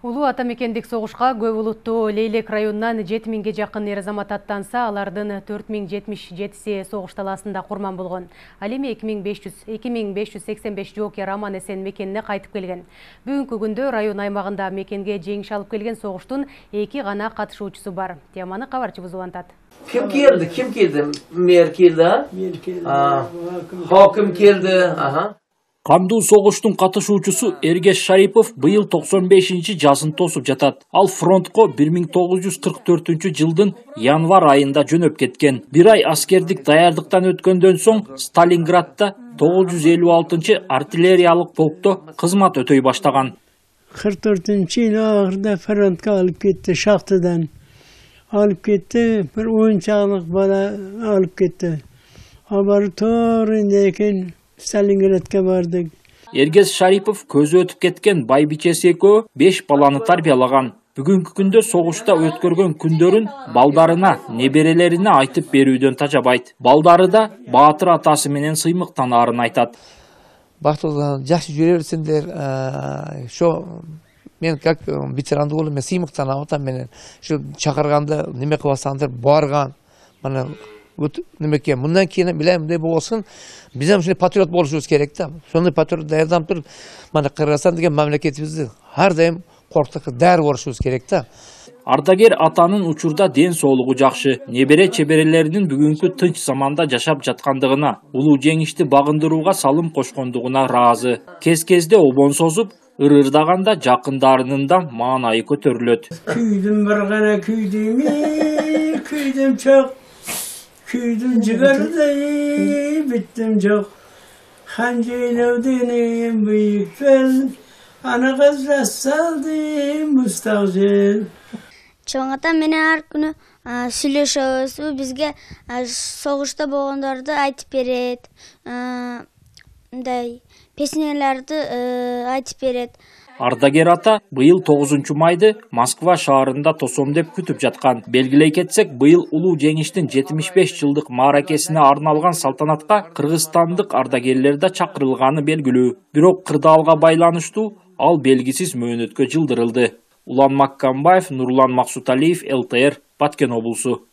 Улуу ата мекендик согушка көп улуттуу Лейлек районунан 7000ге жакын эр-азамат аттанса, алардын 4077си согуш талаасында курман болгон. Ал эми 2585 жоокер аман эсен мекенине кайтып келген. Бүгүнкү күндө район аймагында мекенге жеңиш алып келген согуштун 2 гана катышуучусу бар. Теманы кабарчыбыз улантат. Kim keldi? Mer keldi. Hokim keldi. Кандуу согуштун катышуучусу Эргеш Шарипов быйыл 95-жазын тосуп жатат. Ал фронтко 1944-жылдын январ айында жөнөп кеткен. Бир ай аскердик даярдыктан өткөндөн соң Сталинградда 956-артиллериялык полкто кызмат өтөй баштаган. 44-yıl ahırda frontga alıp gitti, şahtıdan alıp gitti, bir oyuncaklık bana alıp gitti. Haber torundayken Сталинградка бардык. Эргес Шарипов көзү өтүп кеткен байбичеси экөө 5 баланы тарбиялаган. Бүгүнкү күндө согушта өткөргөн күндөрүн балдарына, неберелерине айтып берүүдөн тажабайт. Балдары да баатыр атасы менен сыймыктанаарын айтат. Бактылар жакшы жүрө берсиңдер. Мен как ветеранды болуп, мен сыймыктанам атам менен. Şu чакырганда неме кыласаңдар барган. Мына немеке мындан кийин билем мындай болсун, биз ham ушундай патриот болушубуз керек да. Сондай патриот даярданып туруп, мына Кыргызстан деген мамлекетибизди ар дайым корктукка даяр болушубуз керек да. Ардагер атанын учурда ден соолугу жакшы, небере чеберелеринин бүгүнкү тынч заманда жашап жаткандыгына, улуу жеңишти багындырууга салым кошкондугуна ыраазы. Кез-кезде обон созуп, ырырдаганда жакындарынын да маанайы көтөрүлөт. Күйдүм bir gana küydüm çok. Küydüm cigarday, bittim çok. Hancıylevdinim büyük fel, ana kızla saldım müstahcil. Çoğunlukla meni her günü süйлөшөбүз, бизге согушта болгондорду айтып берет, мындай песнелерди айтып берет. Ардагер ата быйыл 9-майды Москва шаарында тосом деп күтүп жаткан. Белгилей кетсек, быйыл улуу жеңиштин 75 жылдык мааракесине арналган салтанатка кыргызстандык ардагерлер да чакырылганы белгилүү. Бирок кырдаалга байланыштуу ал белгисиз мөөнөткө жылдырылды. Улан Маккамбаев, Нурлан Максуталиев, ЛТР, Баткен облусу.